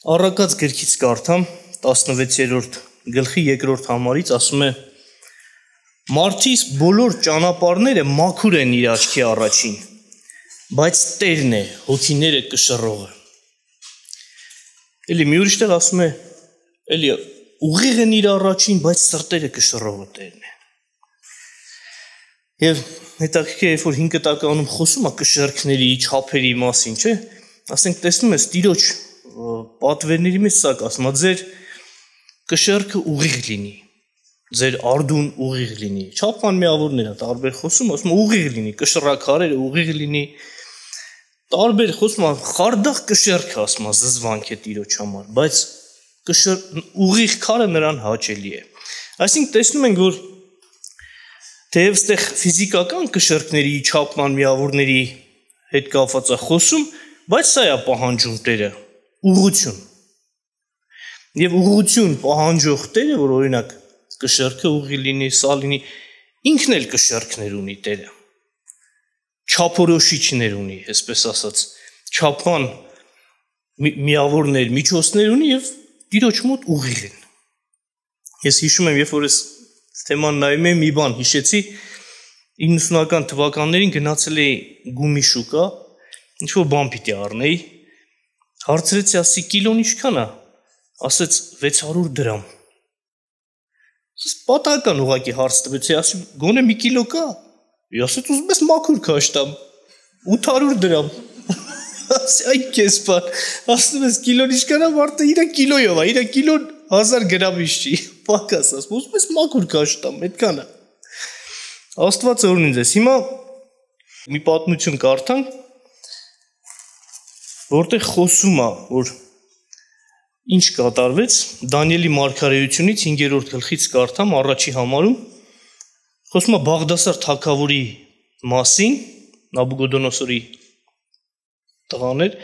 Առակած գրքից կարդամ 16-րդ գլխի 2-րդ համարից ասում է. Մարդիս բոլոր ճանապարհները մաքուր են իր աչքի առաջին, բայց Տերն է հոգիները կշռողը։ Էլի մի ուրիշ տեղ ասում է, էլի ուղիղ են իր առաջին, բայց սրտերը կշռողը Տերն է։ Եվ հետաքրքիր է, երբ որ 5 տականում խոսում է կշեռքների, չափերի մասին, չէ՞, ասենք տեսնում ես Տիրոջ պատվերների մեջ սակ ասում է, ձեր կշեռքը ուղիղ լինի, ձեր արդուն ուղիղ լինի, չափման միավորները տարբեր խոսում, ասում է ուղիղ լինի, կշռաքարերը ուղիղ լինի, տարբեր խոսում է, խարդախ կշեռքը ասում է, զզվանք է Տիրոջ համար, բայց ուղիղ քարը նրան հաճելի է։ Այսինքն տեսնում ենք, որ թեև այստեղ ֆիզիկական կշեռքների, չափման միավորների հետ կապված է խոսում, բայց սա է պահանջում Տերը, ուղղություն։ Եվ ուղղություն պահանջող Տերը, որ օրինակ կշեռքը ուղիղ լինի, սա լինի, ինքն էլ կշեռքներ ունի Տերը։ Չափորոշիչներ ունի, այսպես ասած, չափման միավորներ, միջոցներ ունի եւ Տիրոջ մոտ ուղիղ են։ Ես հիշում եմ, երբ որ ես թեման նայում եմ, մի բան հիշեցի, 90-ական թվականներին գնացել էի գումի շուկա, ինչ-որ բան պիտի առնեի, հարցրեցի, ասի կիլոն ինչքան է, ասեց 600 դրամ։ Պատահական ուղղակի հարց տվեցի, ասի գոնե մի կիլո կա, ասեց ուզում ես մաքուր քաշտամ, 800 դրամ։ Ասի այ քեզ բան, ասում ես կիլոն ինչքան է, մարդը իր կիլոյով է, իր կիլոն 1000 գրամից չի, պակաս ասում, ուզում ես մաքուր քաշտամ, այդքան է։ Աստված օրհնի ձեզ։ Հիմա մի պատմություն կարդանք, որտեղ խոսում է, որ ինչ կատարվեց, Դանիելի մարգարեությունից 5-րդ գլխից կարդամ, առաջի համարում, խոսում է Բաղդասար թագավորի մասին, Նաբուկոդոնոսորի տղան էր,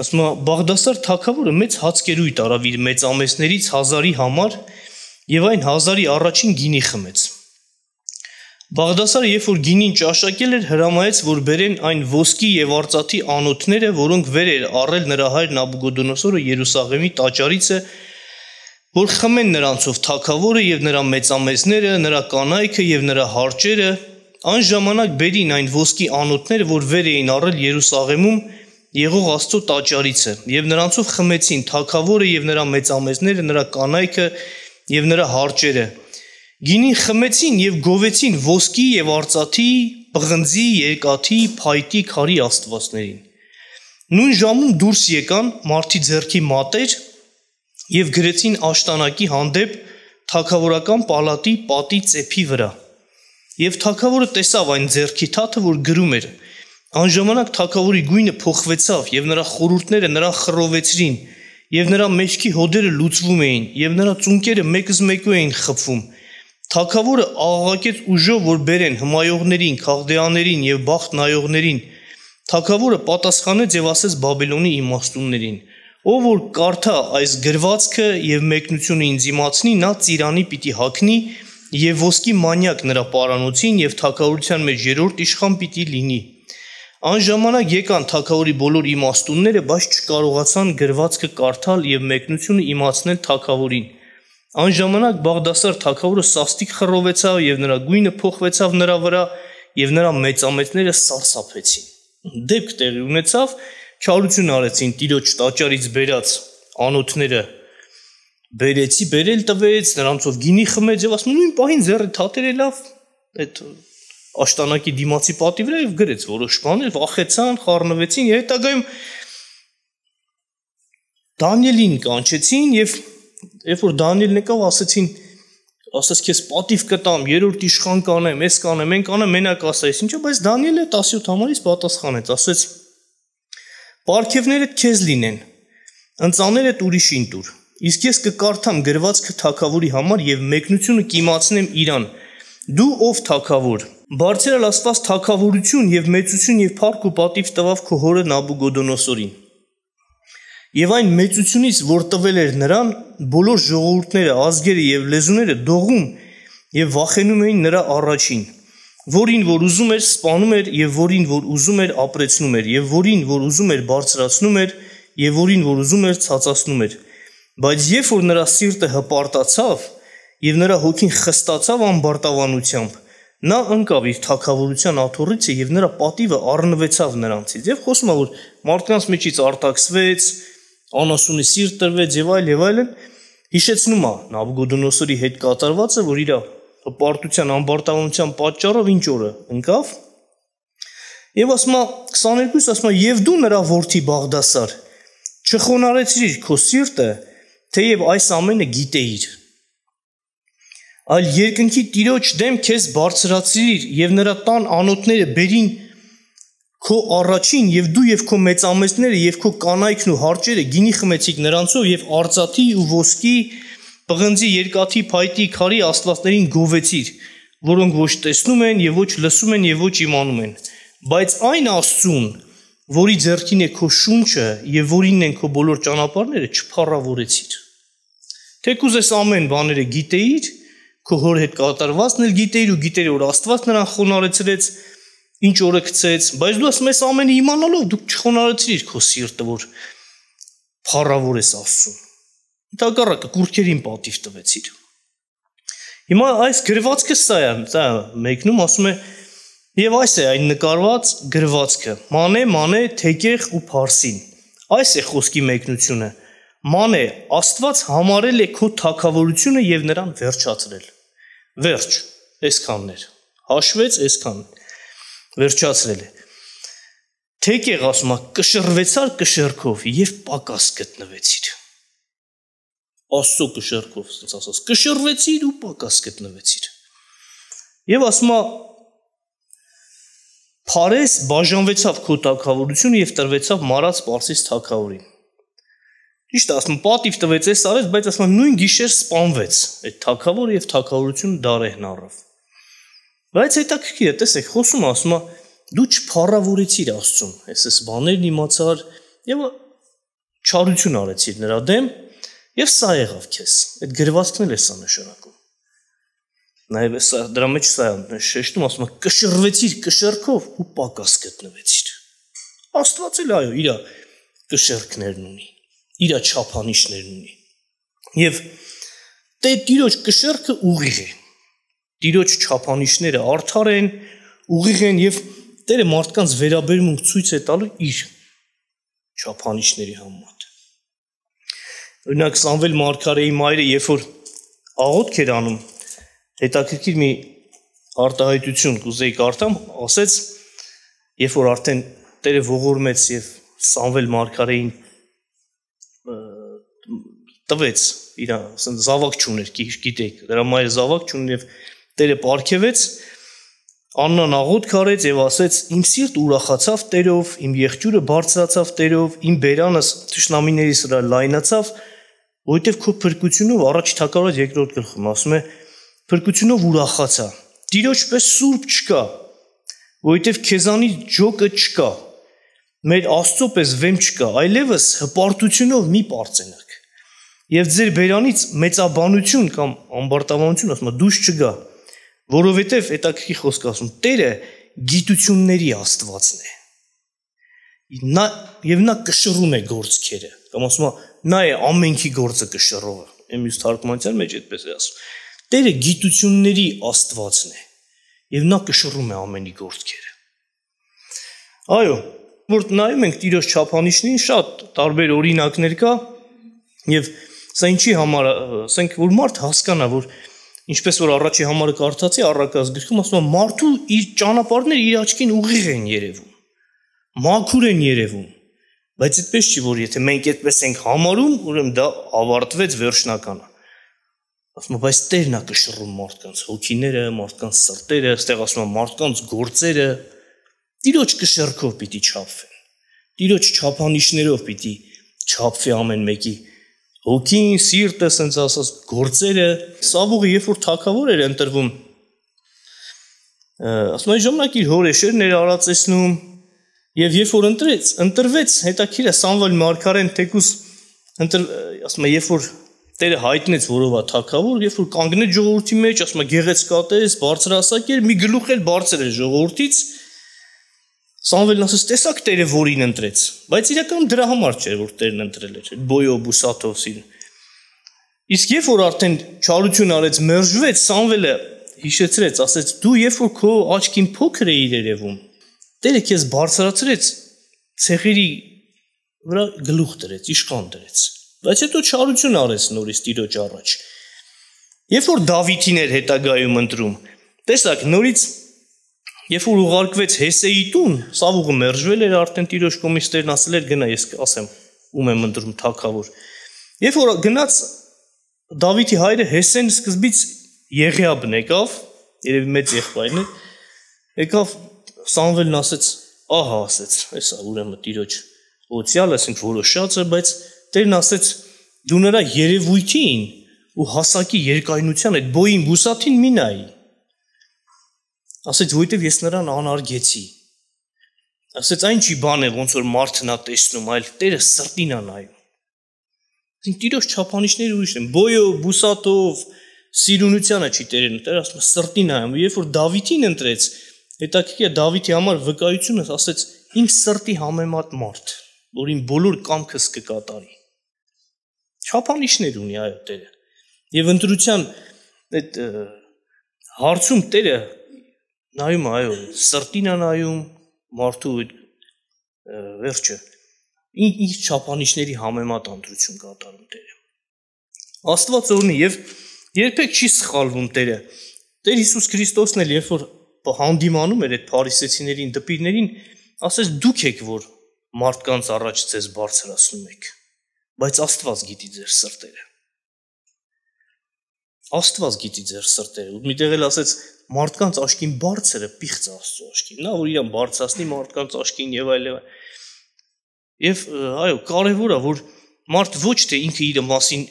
ասում է Բաղդասար թագավորը մեծ հացկերույթ արավ իր մեծամեծներից 1000-ի համար եւ այն 1000-ի առաջին գինի խմեց։ Բաղդասարը երբ որ գինին ճաշակել էր, հրամայեց, որ բերեն այն ոսկի եւ արծաթի անոթները, որոնք վեր էր առել նրա հայր Նաբուկոդոնոսորը Երուսաղեմի տաճարիցը, որ խմեն նրանցով թագավորը եւ նրա մեծամեծները, նրա կանայքը եւ նրա հարճերը, այն ժամանակ բերին այն ոսկի անոթները, որ վեր էին առել Երուսաղեմում Եղող Աստծո տաճարիցը, եւ նրանցով խմեցին թագավորը եւ նրա մեծամեծները, նրա կանայքը եւ նրա հարճերը։ Գինին խմեցին եւ գովեցին ոսկի եւ արծաթի, պղնձի, երկաթի, փայտի, քարի աստվածներին։ Նույն ժամում դուրս եկան մարդի ձեռքի մատեր եւ գրեցին աշտանակի հանդեպ թագավորական պալատի պատի ծեփի վրա։ Եվ թագավորը տեսավ այն ձեռքի թաթը, որ գրում էր։ Անժամանակ թագավորի գույնը փոխվեցավ եւ նրա խորհուրդները նրան խռովեցրին եւ նրա մեջքի հոդերը լուծվում էին եւ նրա ծունկերը մեկզմեկու էին խփվում։ Թագավորը աղաղակեց ուժով, որ բերեն հմայողներին, քաղդեաներին եւ բախտ նայողներին։ Թագավորը պատասխանեց եւ ասեց Բաբելոնի իմաստուններին. Ով որ կարդա այս գրվածքը եւ մեկնությունը ինձ իմացնի, նա ծիրանի պիտի հագնի եւ ոսկի մանյակ նրա պարանոցին եւ թագավորության մեջ երրորդ իշխան պիտի լինի։ Անժամանակ եկան թագավորի բոլոր իմաստունները, բայց չկարողացան գրվածքը կարդալ եւ մեկնությունը իմացնել թագավորին։ Անժամանակ Բաղդասար թագավորը սաստիկ խռովեցավ եւ նրա գույնը փոխվեցավ նրա վրա եւ նրա մեծամեծները սարսափեցին։ Դեպք տեղի ունեցավ, չարություն արեցին Տիրոջ տաճարից բերած անոթները բերել տվեց, նրանցով գինի խմեց եւ ասում նույն պահին ձեռը թաթերը լավ այդ աշտանակի դիմացի պատի վրա եւ գրեց որոշ բաներ, վախեցան, խառնվեցին եւ հետագայում Դանիելին կանչեցին եւ երբ որ Դանիելն եկավ, ասաց քեզ պատիվ կտամ, երրորդ իշխան կանեմ, ես կանեմ, են կանեմ, մենակ ասայիս, ինչա, բայց Դանիելը 17 համարից պատասխանեց, ասաց պարգևներդ քեզ լինեն, ընծաներդ ուրիշին տուր, իսկ ես կկարդամ գրվածքը թագավորի համար եւ մեկնությունը կիմացնեմ իրան, դու ով թագավոր, բարձրալ Աստված թագավորություն եւ մեծություն եւ փառք ու պատիվ տվավ քո հորը Նաբուկոդոնոսորին։ Եվ այն մեծությունից, որ տվել էր նրան, բոլոր ժողովուրդները, ազգերը եւ լեզուները դողում եւ վախենում էին նրա առաջին, որին որ ուզում էր սպանում էր եւ որին որ ուզում էր ապրեցնում էր եւ որին որ ուզում էր բարձրացնում էր եւ որին որ ուզում էր ցածացնում էր։ Բայց երբ որ նրա սիրտը հպարտացավ եւ նրա հոգին խստացավ ամբարտավանությամբ, նա ընկավ իր թագավորության աթոռիցը եւ նրա պատիվը առնվեցավ նրանցից։ Եվ խոսում է, որ մարդկանց միջից արտաքսվեց, անասունի սիրտ տրվեց եւ այլն, հիշեցնում է Նաբուգոդոնոսորի հետ կատարվածը, որ իր հպարտության ամբարտավանության պատճառով ինչ օրը ընկավ։ Եվ ասում է 22, ասում է, եւ դու նրա որդի Բաղդասար, չխոնարեցրիր քո սիրտը, թեև այս ամենը գիտեիր, այլ երկնքի Տիրոջ դեմ քեզ բարձրացրիր եւ նրա տան անոթները բերին քո առաջին եւ դու եւ քո մեծամեծները եւ քո կանայքն ու հարճերը գինի խմեցիք նրանցով եւ արծաթի ու ոսկի, պղնձի, երկաթի, փայտի, քարի աստվածներին գովեցիր, որոնք ոչ տեսնում են եւ ոչ լսում են եւ ոչ իմանում են, բայց այն Աստծուն, որի ձեռքին է քո շունչը եւ որինն են քո բոլոր ճանապարհները, չփառավորեցիր։ Թեկուզ այս ամեն բաները գիտեիր, քո հոր հետ կատարվածն էլ գիտեիր ու գիտեիր, որ Աստված նրան խոնարեցրեց, ինչ օրը գցեց, բայց դու ասում ես ամենը իմանալով դու չխոնարեցրիր քո սիրտը, որ փառավորես Աստծուն։ Ընդհակառակը կուրքերին պատիվ տվեցիր։ Հիմա այս գրվածքը սա է մեկնում, ասում է, եւ այս է այն նկարված գրվածքը. Մանե, թեկեղ ու Փարսին։ Այս է խոսքի մեկնությունը։ Մանե, Աստված համարել է քո թագավորությունը եւ նրան վերջացրել։ Վերջ, այսքանն էր։ Հաշվեց այսքան։ Վերջացրել է։ Թեկեղ ասում է, կշռվեցար կշեռքով եւ պակաս գտնվեցիր։ Աստծո կշեռքով, ասած ասած, կշռվեցիր ու պակաս գտնվեցիր։ Եվ ասում է, Փարես բաժանվեցավ քո թագավորությունը եւ տրվեցավ Մարած Պարսից թագավորին։ Ճիշտ է, ասում պատիվ տվեց այս արեց, բայց ասում նույն գիշեր սպանվեց այդ թագավորը եւ թագավորությունը դարեհն առավ։ Բայց հետաքրքիր է, տեսեք, խոսում ասում դու չփառավորեցիր Աստծուն, այս բաներն իմացար եւ չարություն արեցիր նրա դեմ եւ սա եղավ քեզ։ Այդ գրվածքն էլ է սա նշանակում։ Նաև դրա մեջ սա շեշտում ասում կշռվեցիր կշեռքով ու պակաս գտնվեցիր։ Աստված էլ այո, իր կշեռքներն ունի, իր չափանիշներն ունի։ Եվ Տիրոջ կշեռքը ուղիղ է։ Տիրոջ չափանիշները արդար են, ուղիղ են եւ Տերը մարդկանց վերաբերմունք ցույց է տալու իր չափանիշների համեմատ։ Օրինակ Սամվել մարգարեի մայրը, երբ որ աղոթք էր անում, հետաքրքիր մի արտահայտություն կուզեի կարդամ, ասեց, երբ որ արդեն Տերը ողորմեց եւ Սամվել մարգարեին տվեց, իր զավակ չուներ, գիտեք, դրա մայրը զավակ չուներ եւ Տերը պարգևեց, Աննան աղոթք արեց եւ ասեց. Իմ սիրտ ուրախացավ Տերով, իմ եղջյուրը բարձրացավ Տերով, իմ բերանս թշնամիներիս վրա լայնացավ, որովհետեւ քո փրկությունով առաջ Թագավորաց երկրորդ գլխում ասում է փրկությունով ուրախացա։ Տիրոջ պես սուրբ չկա, որովհետեւ քեզանից ջոկը չկա։ Մեր Աստծո պես վեմ չկա, այլևս հպարտությունով մի պարծենաք։ Եվ ձեր բերանից մեծաբանություն կամ ամբարտավանություն ասում է դուրս չգա, որովհետև հետաքրքիր խոսք ասում, Տերը գիտությունների Աստվածն է։ Եվ նա կշռում է գործքերը, կամ ասում է, նա է ամենքի գործը կշռողը։ Մյուս թարգմանության մեջ այդպես է ասում։ Տերը գիտությունների Աստվածն է, եւ նա կշռում է ամենի գործքերը։ Այո, որ նայում ենք Տիրոջ չափանիշներին, շատ տարբեր օրինակներ կա, եւ սա ինչի համար, ասենք, որ մարդ հասկանա, որ ինչպես որ առաջի համարը կարդացի առակաց գրքում, ասում է մարդու իր ճանապարհները իր աչքին ուղիղ են երևում, մաքուր են երևում, բայց այդպես չի, որ եթե մենք այդպես ենք համարում, ուրեմն դա ավարտվեց վերջնականը։ Ասում է, բայց Տերն է կշռում մարդկանց հոգիները, մարդկանց սրտերը, այստեղ ասում է մարդկանց գործերը, Տիրոջ կշեռքով պիտի չափվեն, Տիրոջ չափանիշներով պիտի չափվի ամեն մեկի հոգին, սիրտը, ասենց ասած, գործերը։ Սավուղը երբ որ թագավոր էր ընտրվում, ասում է ժամանակ իր հոր էշերն էր արածեցնում, եւ երբ որ ընտրվեց, հետաքրքիր է Սամվել մարգարեն թեկուզ ասում է, երբ որ Տերը հայտնեց որով է թագավոր, երբ որ կանգնեց ժողովրդի մեջ, ասում է գեղեցկատես, բարձրահասակ էր, մի գլուխ էլ բարձր էր ժողովրդից, Սամվելն ասաց, տեսակ Տերը որին ընտրեց, բայց իրականում դրա համար չէր, որ Տերն ընտրել էր, բոյով, բուսաթով սիրուն։ Իսկ երբ որ արդեն չարություն արեց, մերժվեց, Սամվելը հիշեցրեց, ասեց, դու երբ որ քո աչքին փոքր էիր երևում, Տերը քեզ բարձրացրեց, ցեղերի վրա գլուխ դրեց, իշխան դրեց։ Բայց հետո չարություն արեց նորից Տիրոջ առաջ։ Երբ որ Դավիթին էր հետագայում ընտրում, տեսակ նորից երբ որ ուղարկվեց Հեսեի տուն, Սավուղը մերժվել էր, արդեն Տիրոջ կողմից Տերն ասել էր գնա, ես ասեմ, ում եմ ընտրում թագավոր։ Երբ որ գնաց Դավիթի հայրը Հեսեն սկզբից Եղիաբն եկավ, երևի մեծ եղբայրն է, եկավ Սամվելն ասեց, ահա ասեց, հեսա ուրեմն Տիրոջ օծյալը, ասենք որոշած է, բայց Տերն ասեց, դու նրա երևույթին ու հասակի երկայնության այդ բոյին բուսաթին մի նայի։ Ասեց, որովհետև ես նրան անարգեցի։ Ասեց, այն չի բան է, ոնց որ մարդն է տեսնում, այլ Տերը սրտին է նայում։ Այսինքն Տիրոջ չափանիշները ուրիշ են, բոյով, բուսաթով, սիրունությանը չի Տերն, Տերը ասում է սրտին նայում։ Երբ որ Դավիթին ընտրեց, հետաքրքիր է Դավիթի համար վկայությունը ասեց, իմ սրտի համեմատ մարդ, որ իմ բոլոր կամքս կկատարի։ Չափանիշներ ունի այո Տերը։ Եվ ընտրության այդ հարցում Տերը նայում այո, սրտին է նայում, մարդու վերջը ինչ չափանիշների համեմատ ընտրություն կատարում Տերը։ Աստված օրհնի եւ երբեք չի սխալվում Տերը։ Տեր Հիսուս Քրիստոսն էլ երբ որ հանդիմանում էր այդ փարիսեցիներին, դպիրներին, ասեց դուք եք որ մարդկանց առաջ ձեզ բարձրացնում եք, բայց Աստված գիտի ձեր սրտերը։ Աստված գիտի ձեր սրտերը։ Միտեղ էլ ասեց մարդկանց աշկին բարձրը պիղծ Աստծո աշկին, նա որ իրան բարձրացնի մարդկանց աշկին եւ այլ։ Եվ այո, կարևոր է որ մարդ ոչ թե ինքը իր մասին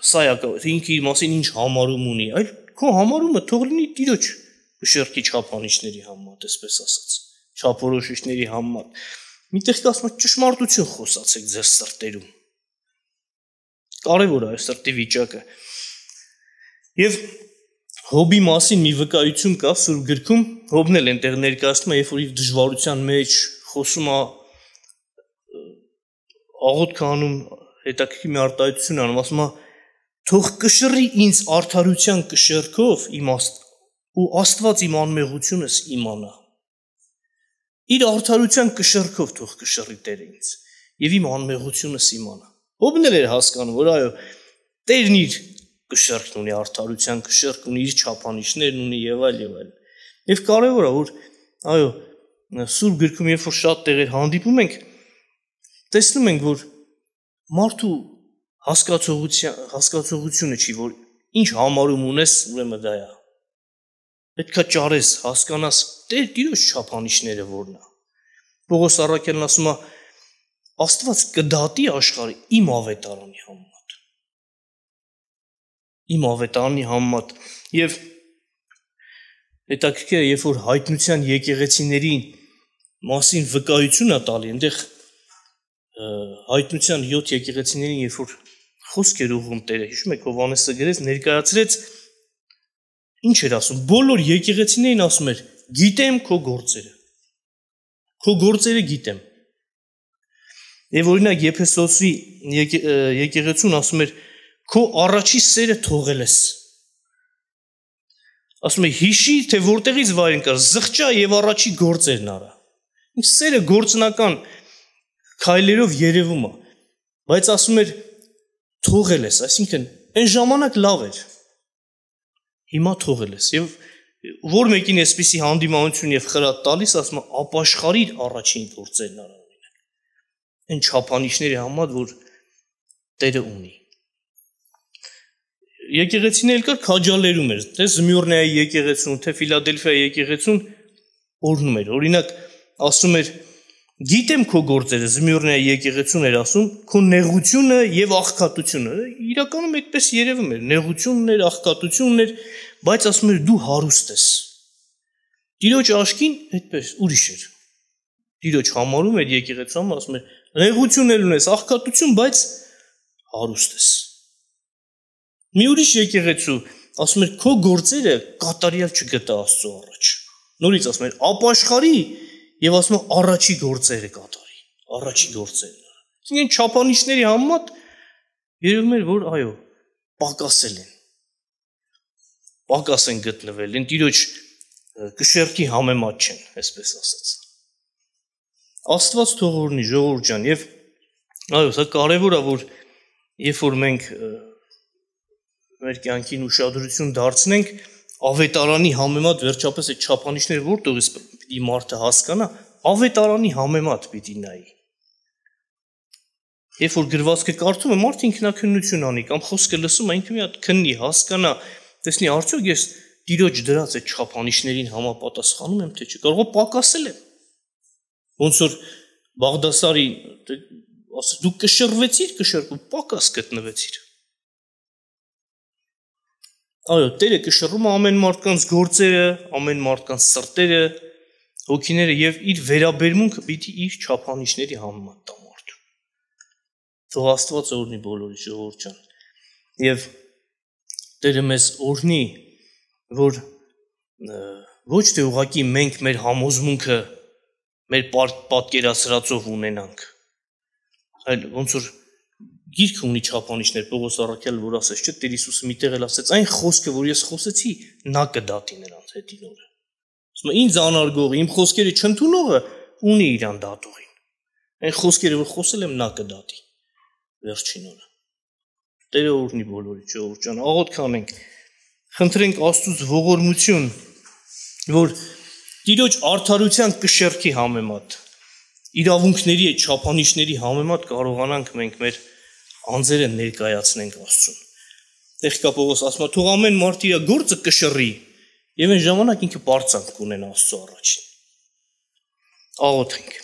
սա է, ինքը իր մասին ինչ համարում ունի, այլ քո համարումը թող լինի Տիրոջ շերքի չափանիշների համեմատ, այսպես ասած, չափորոշիչների համեմատ։ Միտեղ կասում է ճշմարտություն խոսացեք ձեր սրտերում։ Կարևոր է սրտի վիճակը։ Եվ Հոբի մասին մի վկայություն կա Սուրբ գրքում, Հոբն էլ այնտեղ ներկայացնում է, երբ որ իր դժվարության մեջ խոսում է, աղոթք անում, հետաքրքիր մի արտահայտություն անում, ասում է թող կշռի ինձ արդարության կշեռքով ու Աստված իմ անմեղությունս իմանա։ Իր արդարության կշեռքով թող կշռի Տերը ինձ եւ իմ անմեղությունս իմանա։ Հոբն էլ էր հասկանում, որ այո, Տերն իր կշեռքն ունի, արդարության կշեռք ունի, իր չափանիշներն ունի եւ այլ եւ այլ։ Եվ կարեւոր է որ այո, Սուրբ գրքում երբ որ շատ տեղեր հանդիպում ենք, տեսնում ենք որ մարդու հասկացողությունը չի, որ ինչ համարում ունես, ուրեմն դա է։ Պետքա ճարես, հասկանաս Տիրոջ չափանիշները որն է։ Պողոս առաքյալն ասում է Աստված կդատի աշխարհը իմ ավետարանի համեմատ։ Իմ ավետարանի համեմատ եւ հետաքրքիր է, երբ որ հայտնության եկեղեցիների մասին վկայություն է տալի, այնտեղ հայտնության 7 եկեղեցիներին երբ որ խոսք էր ուղղում Տերը, հիշում եք Հովհաննեսը գրեց, ներկայացրեց ինչ էր ասում, բոլոր եկեղեցիներին ասում էր, գիտեմ քո գործերը։ Քո գործերը գիտեմ։ Եվ օրինակ Եփեսոսի եկեղեցուն ասում էր, քո առաջի սերը թողել ես։ Ասում է հիշի, թե որտեղից վայր ընկար, զղջա եւ առաջի գործերն արա։ Ինչ սերը գործնական քայլերով երևում է, բայց ասում էր թողել ես, այսինքն այն ժամանակ լավ էր։ Հիմա թողել ես եւ որ մեկին էսպիսի հանդիմանություն եւ խրատ տալիս, ասում է ապաշխարիր առաջին գործերն արա օրինակ։ Այն չափանիշների համադ որ Տերը ունի։ Եկեղեցին էլ կար քաջալերում էր, թե Զմյուրնեայի եկեղեցուն, թե Ֆիլադելֆիայի եկեղեցուն օրհնում էր։ Օրինակ ասում էր գիտեմ քո գործերը, Զմյուրնեայի եկեղեցուն էր ասում, քո նեղությունը եւ աղքատությունը։ Իրականում այդպես երևում էր, նեղությունն էր, աղքատությունն էր, բայց ասում էր դու հարուստ ես։ Տիրոջ աշկին այդպես ուրիշ էր։ Տիրոջ համարում էր եկեղեցում, ասում էր նեղություն էլ ունես, աղքատություն, բայց հարուստ ես։ Մի ուրիշ եկեղեցու ասում էր քո գործերը կատարյալ չգտա Աստծո առաջ։ Նորից ասում էր ապաշխարի եւ ասում է առաջի գործերը կատարի, առաջի գործերը։ Այսինքն չափանիշների համեմատ երևում էր, որ այո, պակաս են գտնվել, են տիրոջ կշեռքի համեմատ չեն, այսպես ասած։ Աստված թող օրհնի, ժողովուրդ ջան, եւ այո, սա կարեւոր է, որ երբ որ մենք մեր կյանքին ուշադրություն դարձնենք, ավետարանի համեմատ վերջապես այդ չափանիշները որտեղից պիտի մարդը հասկանա, ավետարանի համեմատ պիտի նայի։ Երբ որ գրվածքը կարդում է, մարդը ինքնակնություն անի կամ խոսքը լսում է, ինքը մի հատ քննի, հասկանա, տեսնի արդյոք ես Տիրոջ դրած այդ չափանիշներին համապատասխանում եմ, թե չէ, կարող է պակասել եմ։ Ոնց որ Բաղդասարի ասա դու կշռվեցիր, կշռու պակաս գտնվեցիր։ Այո, Տերը կշռում է ամեն մարդկանց գործերը, ամեն մարդկանց սրտերը, հոգիները եւ իր վերաբերմունքը պիտի իր չափանիշների համեմատ տա մարդու։ Թող Աստված օրհնի բոլորի ժողովուրդ ջան։ Եվ Տերը մեզ օրհնի, որ ոչ թե ուղղակի մենք մեր համոզմունքը մեր պատկերացրածով ունենանք, այլ ոնց որ գիրք ունի չափանիշներ, Պողոս առաքյալը որ ասեց, չէ, Տեր Հիսուսը միտեղ էլ ասեց, այն խոսքը, որ ես խոսեցի, նա կդատի նրանց հետին օրը։ Ասում է, ինձ անարգողը, իմ խոսքերը չընդունողը ունի իրան դատողին։ Այն խոսքերը, որ խոսել եմ, նա կդատի վերջին օրը։ Տերը օրհնի բոլորի ժողովուրդ ջան, աղոթք անենք, խնդրենք Աստծուց ողորմություն, որ Տիրոջ արդարության կշեռքի համեմատ, իրավունքների այդ չափանիշների համեմատ կարողանանք մենք մեր անձերը ներկայացնենք Աստծուն։ Տեղ Պողոս ասում է, թող ամեն մարդ իր գործը կշռի եւ այն ժամանակ ինքը բարձանք կունենա Աստծո առաջին։ Աղոթենք։